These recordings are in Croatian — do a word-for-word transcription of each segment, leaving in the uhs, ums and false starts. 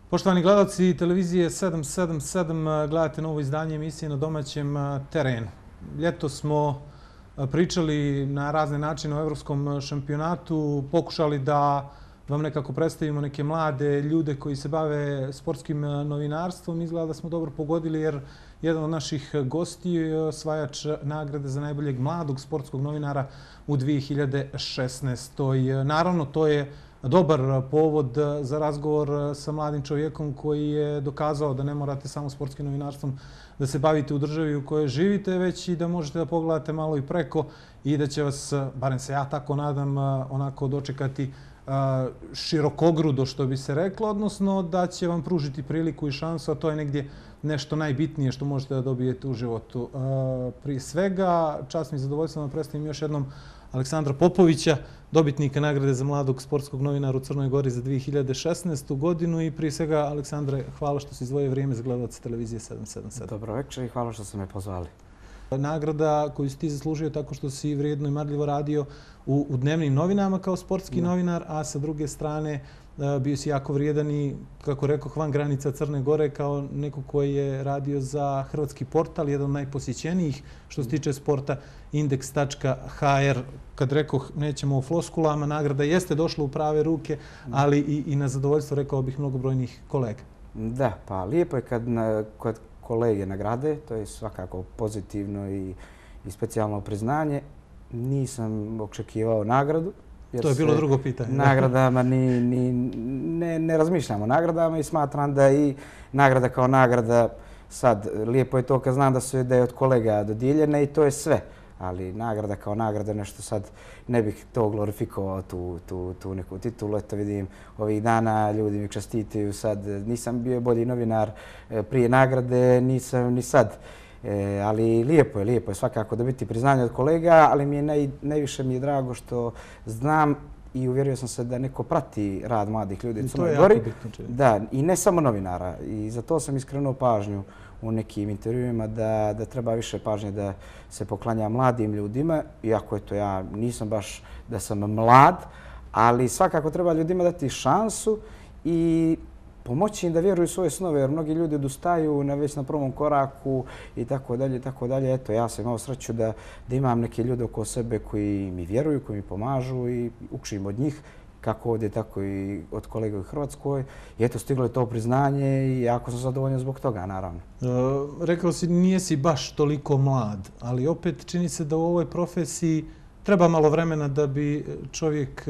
Poštovani gledalci televizije sedam sedam sedam, gledate novo izdanje emisije Na domaćem terenu. Ljeto smo pričali na razne načine o evropskom šampionatu, pokušali da vam nekako predstavimo neke mlade ljude koji se bave sportskim novinarstvom. Izgleda da smo dobro pogodili jer jedan od naših gostiju je osvajač nagrade za najboljeg mladog sportskog novinara u dvije hiljade šesnaestoj. Naravno, to je dobar povod za razgovor sa mladim čovjekom koji je dokazao da ne morate samo sportskim novinarstvom da se bavite u državi u kojoj živite, već i da možete da pogledate malo i preko i da će vas, barem se ja tako nadam, onako dočekati širokogrudo, što bi se reklo, odnosno da će vam pružiti priliku i šansu, a to je negdje nešto najbitnije što možete da dobijete u životu. Prije svega, čast mi i zadovoljstvo da predstavim još jednom Aleksandra Popovića, dobitnika nagrade za mladog sportskog novinara u Crnoj Gori za dvije hiljade šesnaestu godinu. I prije svega, Aleksandre, hvala što si izdvojio vrijeme za gledalaca televizije sedam sedam sedam. Dobro večer i hvala što ste me pozvali. Nagrada koju si ti zaslužio tako što si vrijedno i marljivo radio u, u dnevnim novinama kao sportski da. novinar, a sa druge strane bio si jako vrijedan i, kako rekoh, van granica Crne Gore kao neko koji je radio za hrvatski portal, jedan od najposjećenijih što se tiče sporta, indeks tačka ha er. Kad rekoh, nećemo o floskulama, nagrada jeste došla u prave ruke, ali i, i na zadovoljstvo, rekao bih, mnogobrojnih kolega. Da, pa lijepo je kad, na, kad kolege nagrade, to je svakako pozitivno i, i specijalno priznanje. Nisam očekivao nagradu. To je bilo drugo pitanje. Nagradama ni, ni, ne, ne razmišljamo o nagradama i smatram da i nagrada kao nagrada, sad lijepo je to kad znam da su da je od kolega dodijeljene i to je sve. Ali nagrada kao nagrada nešto sad ne bih to glorifikovao tu, tu, tu neku titulu. Eto vidim ovih dana ljudi mi čestitaju sad. Nisam bio bolji novinar prije nagrade, nisam ni sad. E, ali lijepo je, lijepo je svakako dobiti priznanje od kolega, ali mi je naj, najviše mi je drago što znam i uvjerio sam se da neko prati rad mladih ljudi u Crnoj Gori. Da, i ne samo novinara. I za to sam iskrenuo pažnju u nekim intervjuima da, da treba više pažnje da se poklanja mladim ljudima. Iako eto, ja nisam baš da sam mlad, ali svakako treba ljudima dati šansu i pomoći im da vjeruju u svoje snove, jer mnogi ljudi odustaju na već na prvom koraku i tako dalje i tako dalje. Eto, ja sam imao sreću da, da imam neke ljude oko sebe koji mi vjeruju, koji mi pomažu i učim od njih, kako ovdje, tako i od kolega u Hrvatskoj. I eto, stiglo je to priznanje i jako sam zadovoljan zbog toga, naravno. E, rekao si, nije si baš toliko mlad, ali opet čini se da u ovoj profesiji treba malo vremena da bi čovjek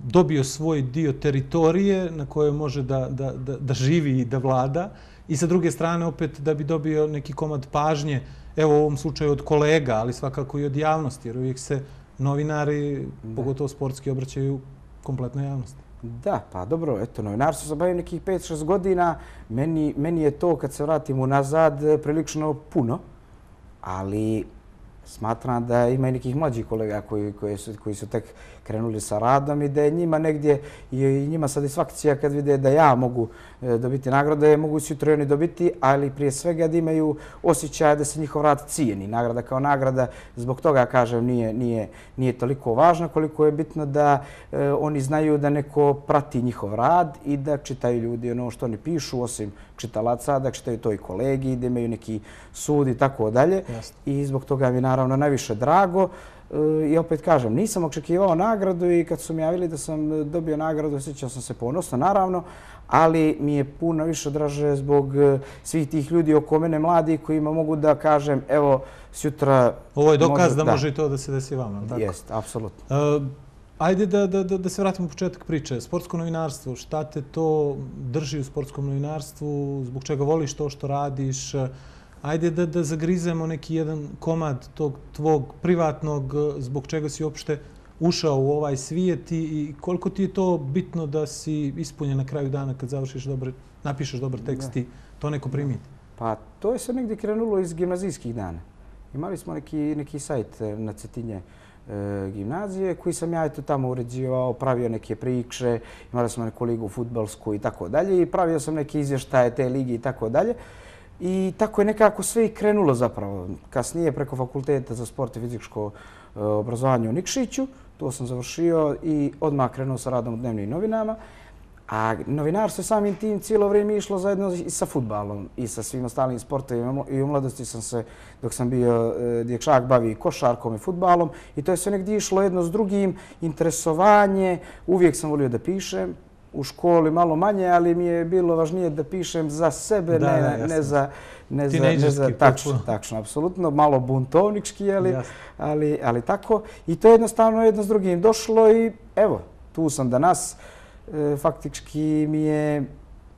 dobio svoj dio teritorije na kojoj može da, da, da, da živi i da vlada i sa druge strane opet da bi dobio neki komad pažnje, evo u ovom slučaju od kolega, ali svakako i od javnosti, jer uvijek se novinari, da. pogotovo sportski, obraćaju kompletnoj javnosti. Da, pa dobro, eto, novinarstvo se bavi nekih pet šest godina, meni, meni je to kad se vratim unazad prilično puno, ali smatram da ima i nekih mlađih kolega koji, koji, su, koji su tek krenuli sa radom i da je njima negdje i njima satisfakcija kad vide da ja mogu dobiti nagrade, mogu sutra oni dobiti, ali prije svega da imaju osjećaj da se njihov rad cijeni. Nagrada kao nagrada, zbog toga kažem, nije, nije, nije toliko važna koliko je bitno da e, oni znaju da neko prati njihov rad i da čitaju ljudi ono što oni pišu, osim čitalaca, da čitaju to i kolegi, da imaju neki sud i tako dalje. I zbog toga mi je naravno najviše drago. I opet kažem, nisam očekivao nagradu i kad su mi javili da sam dobio nagradu, osjećao sam se ponosno, naravno, ali mi je puno više draže zbog svih tih ljudi oko mene, mladi, kojima mogu da kažem, evo, sutra... Ovo je dokaz može, da, da može i to da se desi vama, tako? Jest, apsolutno. Uh, ajde da, da, da, da se vratimo u početak priče. Sportsko novinarstvo, šta te to drži u sportskom novinarstvu, zbog čega voliš to što radiš? Ajde da, da zagrizemo neki jedan komad tog tvog privatnog, zbog čega si uopšte ušao u ovaj svijet i koliko ti je to bitno da si ispunjen na kraju dana kad završiš dobar, napišeš dobar tekst i to neko primiti? Pa to je sve negdje krenulo iz gimnazijskih dana. Imali smo neki, neki sajt na Cetinje e, gimnazije koji sam ja eto tamo uređivao, pravio neke priče, imali smo neku ligu fudbalsku i tako dalje i pravio sam neke izvještaje te ligi i tako dalje. I tako je nekako sve i krenulo zapravo. Kasnije preko Fakulteta za sport i fizičko obrazovanje u Nikšiću, to sam završio i odmah krenuo sa radom u dnevnim novinama. A novinarstvo je samim tim cijelo vrijeme išlo zajedno i sa fudbalom i sa svim ostalim sportovima. I u mladosti sam se, dok sam bio dječak, bavio košarkom i fudbalom. I to je sve negdje išlo jedno s drugim, interesovanje. Uvijek sam volio da pišem. U školi malo manje, ali mi je bilo važnije da pišem za sebe, da, ne, da, ne za... Ne za, ne za, tačno, tačno, apsolutno. Malo buntovnički, ali, ali, ali tako. I to je jednostavno jedno s drugim došlo i evo, tu sam danas. E, faktički mi je,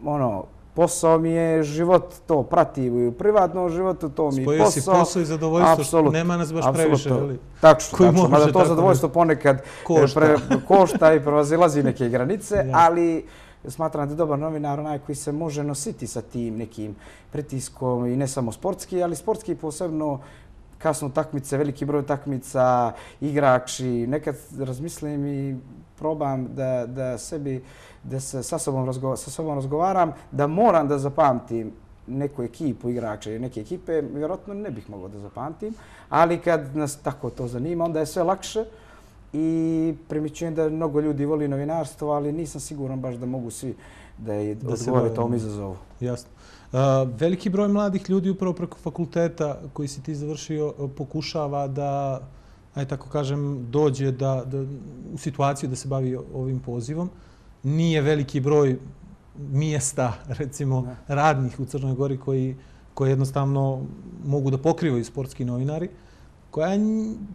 ono, posao mi je život, to prati i u privatnom životu, to mi je posao. Spojio si posao i zadovoljstvo, absolut, nema nas baš previše, ali... Tačno, tačno, mada to zadovoljstvo ponekad košta, pre, košta i prevazilazi neke granice, ja. Ali smatram da je dobar novinar onaj koji se može nositi sa tim nekim pritiskom i ne samo sportski, ali sportski posebno kasno takmice, veliki broj takmica, igrači. Nekad razmislim i probam da, da sebi, da se sa sobom, razgo, sa sobom razgovaram, da moram da zapamtim neku ekipu igrača i neke ekipe, vjerojatno ne bih mogao da zapamtim, ali kad nas tako to zanima, onda je sve lakše i primjećujem da mnogo ljudi voli novinarstvo, ali nisam siguran baš da mogu svi da, da odgovore tom izazovu. Jasno. Uh, veliki broj mladih ljudi upravo preko fakulteta koji si ti završio pokušava da, aj tako kažem, dođe da, da, u situaciju da se bavi ovim pozivom. Nije veliki broj mjesta, recimo, ne. radnih u Crnoj Gori koji, koji jednostavno mogu da pokrivaju sportski novinari. Koja je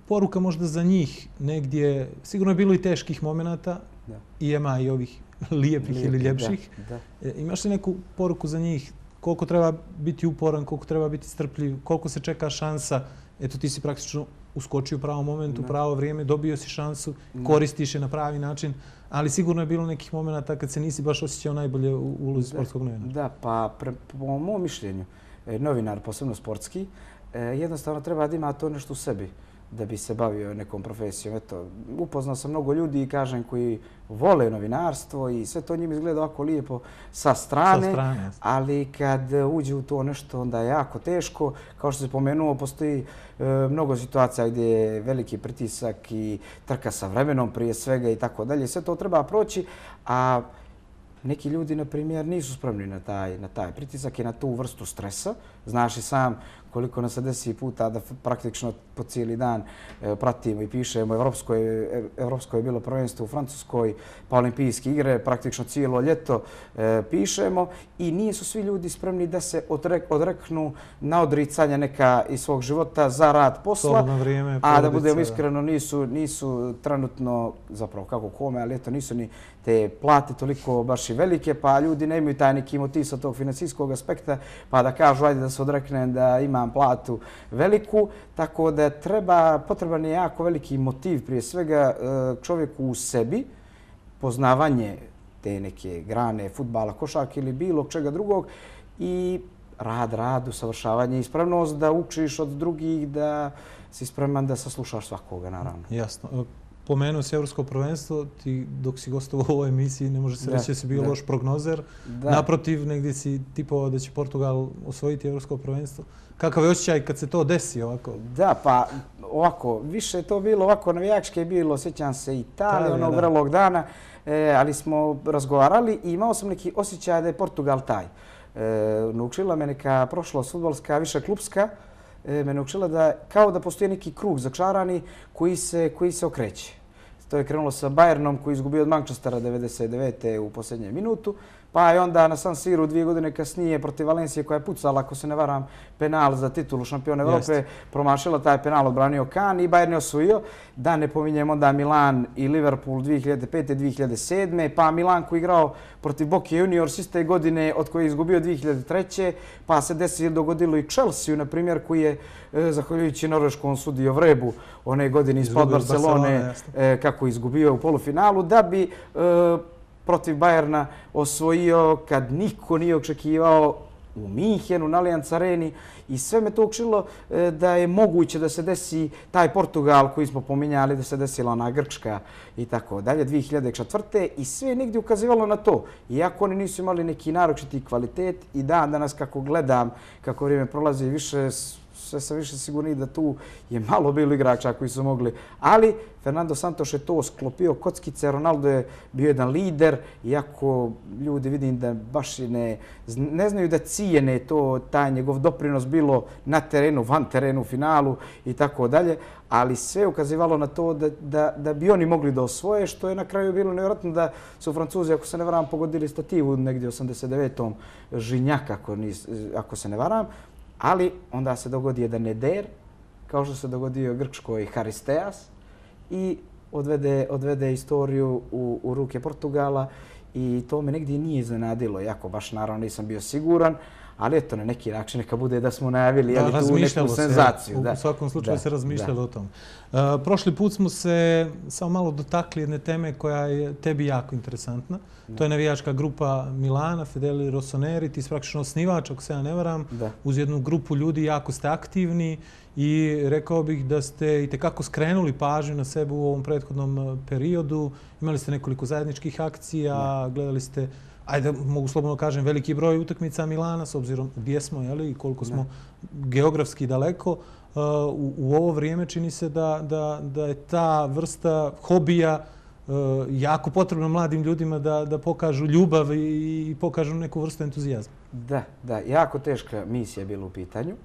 poruka možda za njih negdje, sigurno je bilo i teških momenata, da. I ima i ovih lijepih Lijepi, ili ljepših. Da, da. E, imaš li neku poruku za njih? Koliko treba biti uporan, koliko treba biti strpljiv, koliko se čeka šansa? Eto, ti si praktično uskočio u pravom momentu, u pravo vrijeme, dobio si šansu, koristiš je na pravi način, ali sigurno je bilo nekih momenata kad se nisi baš osjećao najbolje u ulozi sportskog novinara. Da, pa pre, po mom mišljenju, novinar, posebno sportski, jednostavno treba da ima to nešto u sebi da bi se bavio nekom profesijom. Eto, upoznao sam mnogo ljudi i kažem koji vole novinarstvo i sve to njim izgleda ovako lijepo sa strane, sa strane, ali kad uđe u to nešto onda je jako teško. Kao što se pomenuo, postoji e, mnogo situacija gdje je veliki pritisak i trka sa vremenom prije svega i tako dalje. Sve to treba proći, a neki ljudi, na primjer, nisu spremni na taj, na taj pritisak i na tu vrstu stresa. Znaš i sam koliko nas se desi puta da praktično po cijeli dan e, pratimo i pišemo. Evropsko je, Evropsko je bilo prvenstvo u Francuskoj, pa olimpijske igre, praktično cijelo ljeto e, pišemo i nisu svi ljudi spremni da se odrek, odreknu na odricanja neka iz svog života za rad posla. Vrijeme, a da budemo iskreno, nisu, nisu trenutno, zapravo kako kome, ali eto nisu ni te plate toliko baš i velike, pa ljudi ne imaju taj neki motiv sa tog financijskog aspekta, pa da kažu ajde da se odreknem da imam platu veliku, tako da treba, potreban je jako veliki motiv prije svega čovjeku u sebi, poznavanje te neke grane, fudbala, košarke ili bilo čega drugog i rad, rad, usavršavanje i spremnost da učiš od drugih, da si spreman da saslušaš svakoga, naravno. Jasno. Pomenuo si Evropsko prvenstvo, ti dok si gostovao u ovoj emisiji ne može se reći da si bio loš prognozer. Da. Naprotiv, negdje si tipovao da će Portugal osvojiti Evropsko prvenstvo. Kakav je osjećaj kad se to desi ovako? Da, pa ovako, više je to bilo ovako navijačke je bilo, sjećam se Italije, onog vrelog dana, e, ali smo razgovarali i imao sam neki osjećaj da je Portugal taj. E, naučila me neka prošlost fudbalska, više klubska, me naučila da kao da postoji neki krug začarani koji se, koji se okreće. To je krenulo sa Bayernom koji je izgubio od Manchestera devedeset devete u posljednjem minutu, pa je onda na San Siru dvije godine kasnije protiv Valencije koja je pucala, ako se ne varam, penal za titulu šampiona Evrope, promašila taj penal, odbranio Kan i Bayern je osvojio. Da ne pominjem onda Milan i Liverpool dvije hiljade pete dvije hiljade sedme, pa Milan koji je igrao protiv Boca Juniors iste godine od koje je izgubio dvije hiljade treće, pa se desi dogodilo i Chelsea, na primjer, koji je, zahvaljujući norveškom sudiju Vrebu, one godine ispod Barcelone, kako je izgubio u polufinalu, da bi protiv Bayerna osvojio kad niko nije očekivao u Minhenu, na Allianz Areni i sve me to učilo da je moguće da se desi taj Portugal koji smo pominjali, da se desila ona Grčka i tako dalje, dvije hiljade četvrte i sve je nigdje ukazivalo na to. Iako oni nisu imali neki naročiti kvalitet i dan danas kako gledam, kako vrijeme prolazi, više sve sam više sigurni da tu je malo bilo igrača koji su mogli. Ali Fernando Santos je to sklopio kockice, Ronaldo je bio jedan lider, iako ljudi vidim da baš ne, ne znaju da cijene to, taj njegov doprinos bilo na terenu, van terenu, u finalu i tako dalje, ali sve ukazivalo na to da, da, da bi oni mogli da osvoje, što je na kraju bilo nevjerojatno da su Francuzi, ako se ne varam, pogodili stativu negdje u osamdeset devetom Žinjak, ako, ako se ne varam, ali onda se dogodi jedan eder, kao što se dogodio Grčkoj Haristeas, i odvede, odvede istoriju u, u ruke Portugala i to me negdje nije iznenadilo, jako baš naravno nisam bio siguran, ali eto, na neki način neka bude da smo najavili da, tu neku senzaciju. Se, da, u svakom slučaju da, se razmišljalo da. o tom. Uh, prošli put smo se samo malo dotakli jedne teme koja je tebi jako interesantna. Da. To je navijačka grupa Milana, Fedeli Rossoneri, ti si praktično osnivač, ako se ja ne varam, da. Uz jednu grupu ljudi jako ste aktivni i rekao bih da ste i tekako skrenuli pažnju na sebe u ovom prethodnom periodu. Imali ste nekoliko zajedničkih akcija, da. Gledali ste, ajde, mogu slobodno kažem, veliki broj utakmica Milana, s obzirom gdje smo, jeli, i koliko smo ne. geografski daleko. Uh, u, u ovo vrijeme čini se da, da, da je ta vrsta hobija uh, jako potrebna mladim ljudima da, da pokažu ljubav i, i pokažu neku vrstu entuzijazma. Da, da, jako teška misija je bila u pitanju,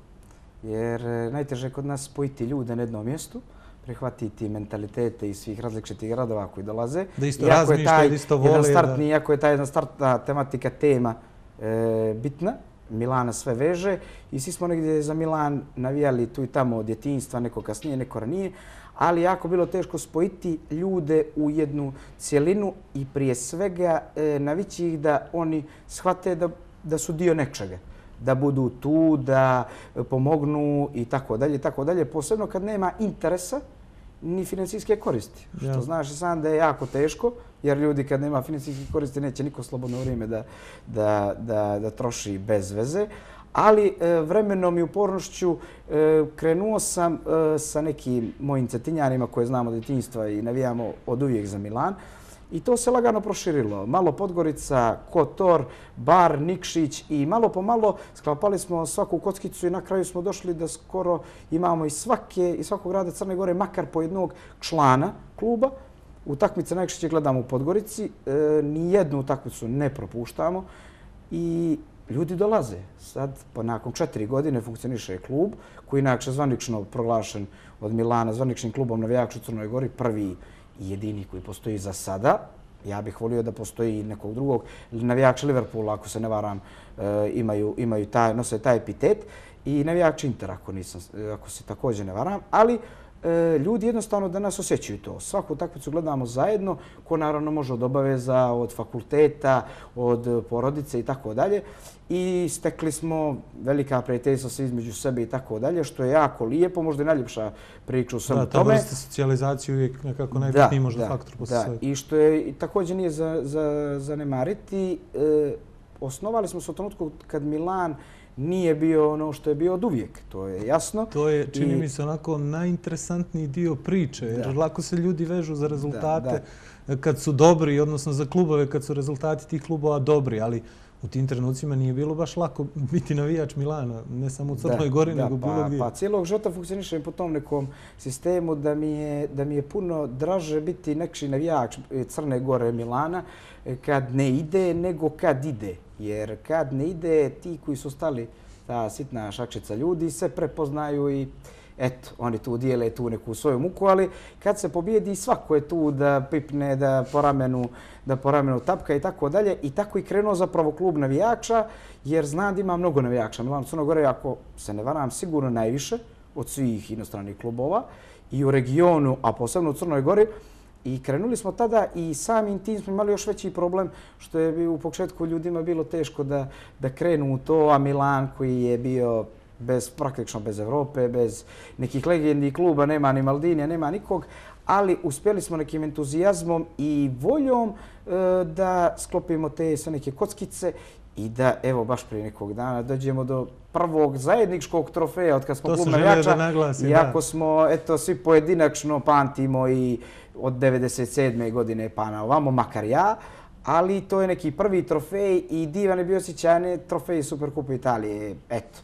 jer najteže je kod nas spojiti ljude na jednom mjestu, prihvatiti mentalitete iz svih različitih gradova koji dolaze. Da isto razmišljaju, da isto vole. Startni, da... Iako je ta jedna startna tematika, tema e, bitna, Milana sve veže i svi smo negdje za Milan navijali tu i tamo od djetinjstva, neko kasnije, neko ranije, ali jako bilo teško spojiti ljude u jednu cjelinu i prije svega e, navići ih da oni shvate da, da su dio nečega, da budu tu, da pomognu i tako dalje, tako dalje, posebno kad nema interesa ni financijske koristi. Ja. Što znaš i sam da je jako teško, jer ljudi kad nema financijske koristi neće niko slobodno vrijeme da, da, da, da troši bez veze. Ali e, vremenom i upornošću e, krenuo sam e, sa nekim mojim cetinjanima koje znamo od djetinjstva i navijamo od uvijek za Milan. I to se lagano proširilo. Malo Podgorica, Kotor, Bar, Nikšić i malo po malo sklapali smo svaku kockicu i na kraju smo došli da skoro imamo iz svake, iz svakog grada Crne Gore makar po jednog člana kluba. Utakmice najčešće gledamo u Podgorici, e, nijednu utakmicu ne propuštamo i ljudi dolaze. Sad, po nakon četiri godine funkcioniše klub koji je inače zvanično proglašen od Milana zvaničnim klubom navijača u Crnoj Gori, prvi i jedini koji postoji za sada. Ja bih volio da postoji i nekog drugog. Navijači Liverpoola, ako se ne varam, imaju, imaju taj, nose taj epitet. I navijači Intera, ako, nisam, ako se također ne varam. Ali ljudi jednostavno danas osjećaju to. Svaku utakmicu gledamo zajedno, ko naravno može od obaveza, od fakulteta, od porodice i tako dalje. I stekli smo velika prijateljstva se između sebe i tako dalje, što je jako lijepo, možda i najljepša priča u svemu tome. Da, ta vrsta socijalizacije uvijek nekako najbitniji možda faktor posle svega. I što je također nije za, za zanemariti, e, osnovali smo se u trenutku kad Milan nije bio ono što je bio od uvijek, to je jasno. To je, čini I... mi se, onako najinteresantniji dio priče, jer da. lako se ljudi vežu za rezultate da, da. kad su dobri, odnosno za klubove kad su rezultati tih klubova dobri, ali u tim trenucima nije bilo baš lako biti navijač Milana, ne samo u Crnoj Gori, da, nego pa, bilo gdje. Pa cijelog života funkcionišem po tom nekom sistemu da mi je, da mi je puno draže biti neki navijač Crne Gore Milana kad ne ide nego kad ide. Jer kad ne ide, ti koji su stali, ta sitna šakšica ljudi, se prepoznaju i eto, oni tu dijele tu neku svoju muku, ali kad se pobijedi, svako je tu da pipne, da po ramenu, da po ramenu tapka i tako dalje. I tako i krenuo zapravo klub navijača, jer znam da ima mnogo navijača. Milan Crno Gore, ako se ne varam, sigurno najviše od svih inostranih klubova i u regionu, a posebno u Crnoj Gori. I krenuli smo tada i samim tim smo imali još veći problem što je u početku ljudima bilo teško da, da krenu u to, a Milan koji je bio bez, praktično bez Evrope, bez nekih legendi kluba, nema ni Maldinija, nema nikog, ali uspjeli smo nekim entuzijazmom i voljom e, da sklopimo te sve neke kockice i da, evo, baš prije nekog dana dođemo do prvog zajedničkog trofeja od kad smo klub navijača. Iako smo, eto, svi pojedinačno pamtimo i od devedeset sedme godine pa na ovamo, makar ja, ali to je neki prvi trofej i divan je bio osjećaj, trofej Superkupa Italije, eto.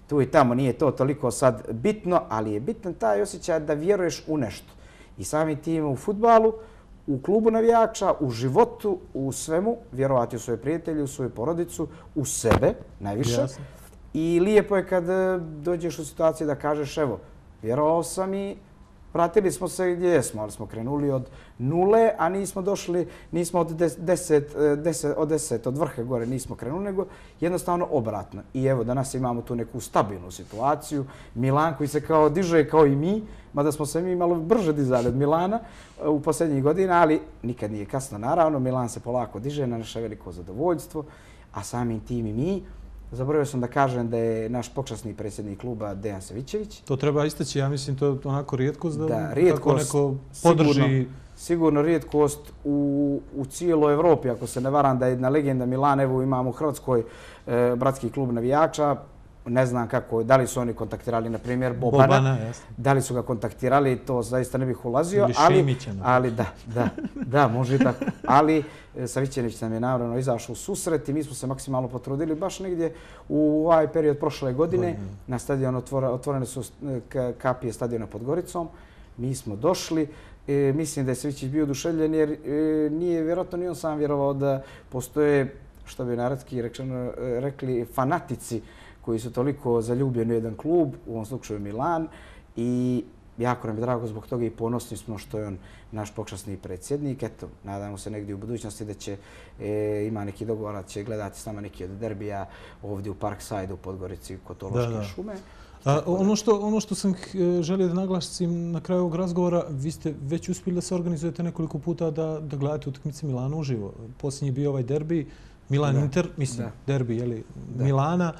tu i tamo nije to toliko sad bitno, ali je bitan taj osjećaj da vjeruješ u nešto. I samim tim u fudbalu, u klubu navijača, u životu, u svemu, vjerovati u svoje prijatelje, u svoju porodicu, u sebe najviše. Jasno. I lijepo je kad dođeš u situaciju da kažeš evo, vjerovao sam i pratili smo se gdje jesmo, ali smo krenuli od nule, a nismo došli, nismo od deset, deset, od deset, od vrha gore nismo krenuli, nego jednostavno obratno. I evo, danas imamo tu neku stabilnu situaciju. Milan koji se kao diže kao i mi, mada smo se mi malo brže dizali od Milana u posljednjih godina, ali nikad nije kasno naravno. Milan se polako diže na naše veliko zadovoljstvo, a samim tim i mi. Zaboravio sam da kažem da je naš počasni predsjednik kluba Dejan Savićević. To treba istaći, ja mislim, to je onako rijetkost da, da rijetkost, neko podrži... Sigurno, sigurno rijetkost u, u cijeloj Evropi, ako se ne varam da je jedna legenda Milan, evo imamo u Hrvatskoj e, bratski klub navijača. Ne znam kako, da li su oni kontaktirali, na primjer, Bobana. Bobana, jasno. Da li su ga kontaktirali, to zaista ne bih ulazio. Ili ali, Šimića. ali da, da, da, može i tako. Ali Savićević nam je naravno izašao u susret i mi smo se maksimalno potrudili baš negdje u ovaj period prošle godine. Godine. Na stadion otvore, otvorene su kapije stadiona pod Goricom. Mi smo došli. E, mislim da je Savićević bio oduševljen jer e, nije vjerojatno ni on sam vjerovao da postoje, što bi narodski rečeno, rekli, fanatici koji su toliko zaljubljeni u jedan klub, u ovom slučaju Milan, i jako nam je drago zbog toga i ponosni smo što je on naš počasni predsjednik. Eto, nadamo se negdje u budućnosti da će, e, ima neki dogovor, da će gledati s nama neki od derbija ovdje u Parkside u Podgorici kod Tološke da, da. šume. A, ono, što, ono što sam želio da naglasim na kraju ovog razgovora, vi ste već uspjeli da se organizujete nekoliko puta da, da gledate utakmice Milana uživo. Posljednji je bio ovaj derbi, Milan-Inter, mislim, da. derbi jeli, da. Milana.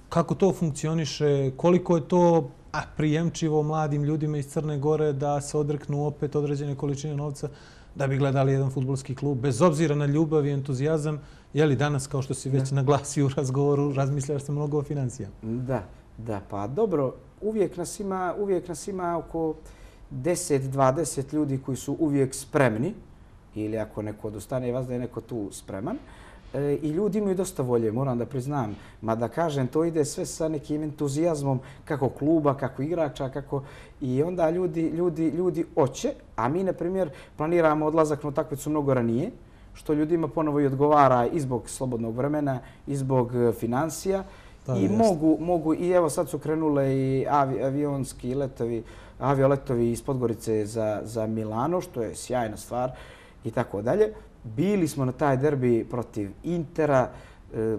Kako to funkcioniše, koliko je to a, prijemčivo mladim ljudima iz Crne Gore da se odreknu opet određene količine novca da bi gledali jedan fudbalski klub, bez obzira na ljubav i entuzijazam, je li danas, kao što si već da. naglasio u razgovoru, razmišljaš se mnogo o financijama? Da, da, pa dobro, uvijek nas ima, uvijek nas ima oko deset do dvadeset ljudi koji su uvijek spremni, ili ako neko odustane, vas da je neko tu spreman. I ljudi imaju dosta volje, moram da priznam. Ma da kažem, to ide sve sa nekim entuzijazmom kako kluba, kako igrača, kako... I onda ljudi, ljudi, ljudi hoće, a mi, na primjer, planiramo odlazak na utakmicu mnogo ranije, što ljudima ponovo i odgovara i zbog slobodnog vremena, i zbog financija. Da, I mogu, mogu, i evo sad su krenule i avi, avionski letovi, avioletovi iz Podgorice za, za Milano, što je sjajna stvar i tako dalje. Bili smo na taj derbi protiv Intera. E,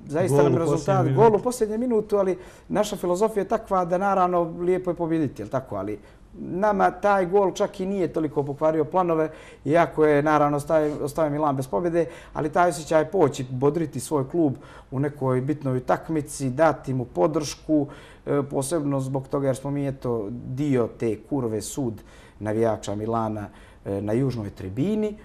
zaista nam rezultat gol u posljednje minutu, ali naša filozofija je takva da naravno lijepo je pobjediti, jel tako? Ali nama taj gol čak i nije toliko pokvario planove, iako je naravno ostavio Milan bez pobjede, ali taj osjećaj poći, bodriti svoj klub u nekoj bitnoj takmici, dati mu podršku, e, posebno zbog toga jer smo mi eto dio te kurve sud navijača Milana e, na južnoj tribini.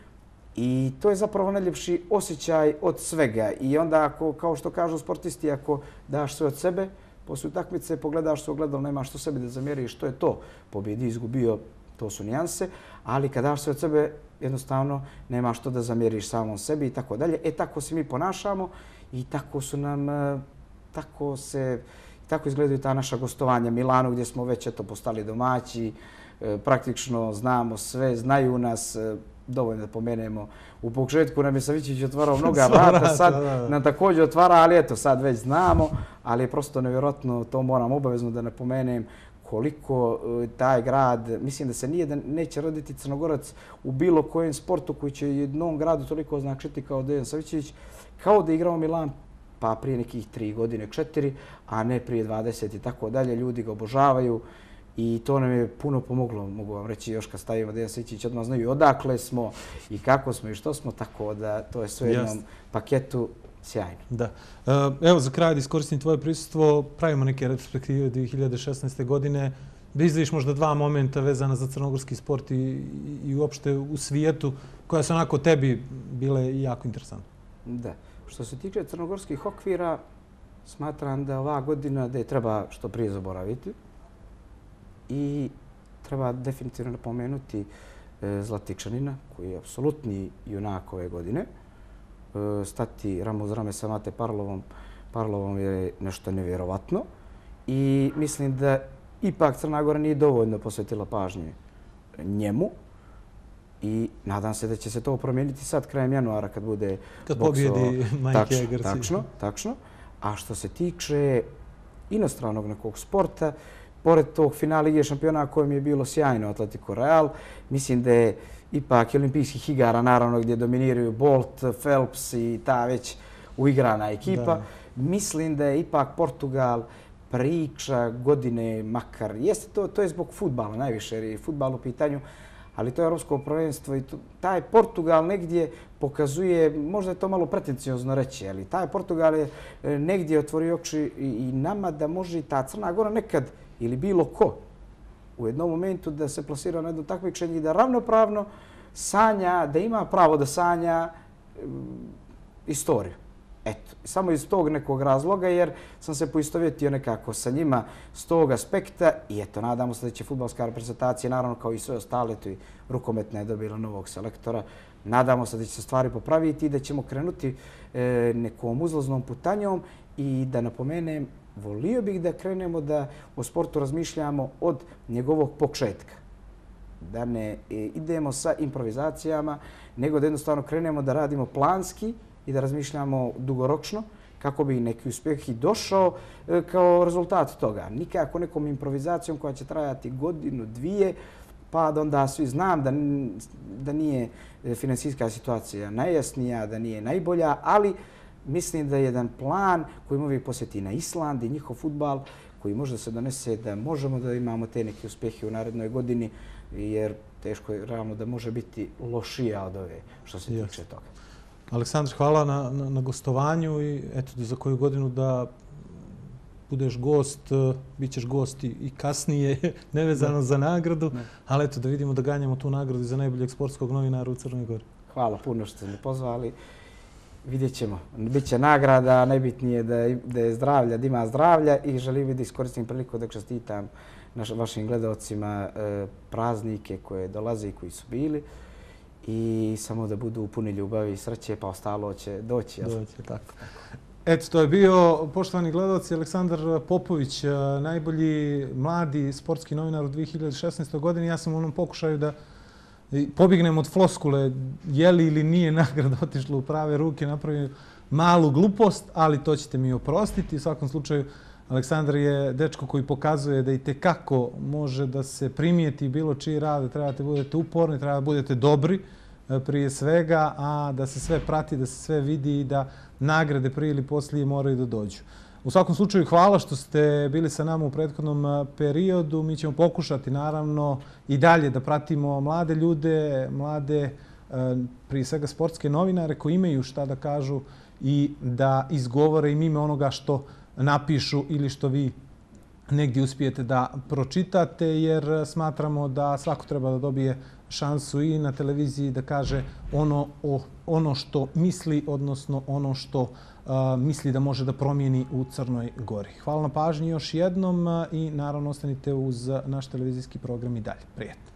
I to je zapravo najljepši osjećaj od svega. I onda, ako, kao što kažu sportisti, ako daš sve od sebe, poslije utakmice pogledaš se u ogledalo, nemaš što sebi da zamjeriš, što je to. Pobjedi, izgubio, to su nijanse. Ali kad daš sve od sebe, jednostavno nemaš što da zamjeriš samom sebi i tako dalje. E, tako se mi ponašamo i tako su nam, tako se, tako izgledaju ta naša gostovanja Milanu, gdje smo već eto postali domaći, praktično znamo sve, znaju nas. Dovoljno da pomenemo. U početku nam je Savićević otvarao mnoga vrata, sad nam također otvara, ali eto, sad već znamo, ali je prosto nevjerojatno, to moram obavezno da napomenem, koliko taj grad, mislim da se nije da neće roditi Crnogorac u bilo kojem sportu koji će jednom gradu toliko značiti kao Dejan Savićević, kao da je igrao Milan pa prije nekih tri godine, četiri, a ne prije dvadeset i tako dalje. Ljudi ga obožavaju. I to nam je puno pomoglo, mogu vam reći, još kad stavimo Dejan Savićević, odmah znaju odakle smo i kako smo i što smo, tako da to je sve u jednom paketu sjajno. Da. Evo, za kraj da iskoristim tvoje prisustvo, pravimo neke retrospektive dvije hiljade šesnaeste. godine, da izdvojiš možda dva momenta vezana za crnogorski sport i, i uopšte u svijetu, koja su onako tebi bile jako interesantne. Da. Što se tiče crnogorskih okvira, smatram da ova godina da je treba što prije zaboraviti. I treba definitivno napomenuti Zlatičanina, koji je apsolutni junak ove godine. Stati rame uz rame sa Mate Parlovom Parlovom je nešto nevjerovatno i mislim da ipak Crna Gora nije dovoljno posvetila pažnje njemu i nadam se da će se to promijeniti sad krajem januara kad bude kad boksovao. pobjedi Majke Egerci. Tačno, tačno. A što se tiče inostranog nekog sporta, pored tog finala Lige šampiona kojem je bilo sjajno Atletico Real, mislim da je ipak olimpijskih igara, naravno gdje dominiraju Bolt, Phelps i ta već uigrana ekipa. Da. Mislim da je ipak Portugal priča godine makar. Jeste to, to je zbog fudbala najviše, jer je fudbal u pitanju, ali to je europsko prvenstvo i to, taj Portugal negdje pokazuje, možda je to malo pretenciozno reći, ali taj Portugal je negdje otvorio oči i nama da može i ta Crna Gora nekad ili bilo ko u jednom momentu da se plasira na jedno takmičenje i da ravnopravno sanja, da ima pravo da sanja istoriju. Eto, samo iz tog nekog razloga, jer sam se poistovjetio nekako sa njima s tog aspekta i eto, nadamo se da će fudbalska reprezentacija, naravno kao i sve ostale, to i rukometna je dobila novog selektora, nadamo se da će se stvari popraviti i da ćemo krenuti e, nekom uzlaznom putanjom i da napomenem, volio bih da krenemo da o sportu razmišljamo od njegovog početka. Da ne idemo sa improvizacijama, nego da jednostavno krenemo da radimo planski i da razmišljamo dugoročno kako bi neki uspjeh i došao kao rezultat toga. Nikako nekom improvizacijom koja će trajati godinu, dvije, pa da onda svi znam da, da nije finansijska situacija najjasnija, da nije najbolja, ali mislim da je jedan plan koji uvijek posjeti na Island i njihov fudbal koji može da se donese da možemo da imamo te neke uspjehe u narednoj godini, jer teško je realno da može biti lošija od ove što se tiče yes. toga. Aleksandar, hvala na, na, na gostovanju i eto za koju godinu da budeš gost, bit ćeš gost i kasnije, nevezano ne. za nagradu, ne. ali eto da vidimo da ganjamo tu nagradu za najboljeg sportskog novinara u Crnoj Gori. Hvala puno što ste me pozvali. Vidjet ćemo. Biće nagrada, najbitnije da je, da je zdravlja, da ima zdravlja i želim da iskoristim priliku da čestitam naš, vašim gledalcima e, praznike koje dolaze i koji su bili i samo da budu puni ljubavi i sreće, pa ostalo će doći. Doći, tako. Eto, to je bio, poštovani gledalci, Aleksandar Popović, najbolji mladi sportski novinar u dvije hiljade šesnaestoj. godini. Ja sam u onom pokušaju da pobjegnem od floskule, je li ili nije nagrada otišla u prave ruke, napravio malu glupost, ali to ćete mi oprostiti. U svakom slučaju, Aleksandar je dečko koji pokazuje da i tekako može da se primijeti bilo čiji rad, trebate budete uporni, treba da budete dobri prije svega, a da se sve prati, da se sve vidi i da nagrade prije ili poslije moraju da dođu. U svakom slučaju, hvala što ste bili sa nama u prethodnom periodu. Mi ćemo pokušati, naravno, i dalje da pratimo mlade ljude, mlade, prije svega sportske novinare koji imaju šta da kažu i da izgovore im ime onoga što napišu ili što vi negdje uspijete da pročitate, jer smatramo da svako treba da dobije šansu i na televiziji da kaže ono, o, ono što misli, odnosno ono što uh, misli da može da promijeni u Crnoj Gori. Hvala na pažnji još jednom i naravno ostanite uz naš televizijski program i dalje. Prijetno.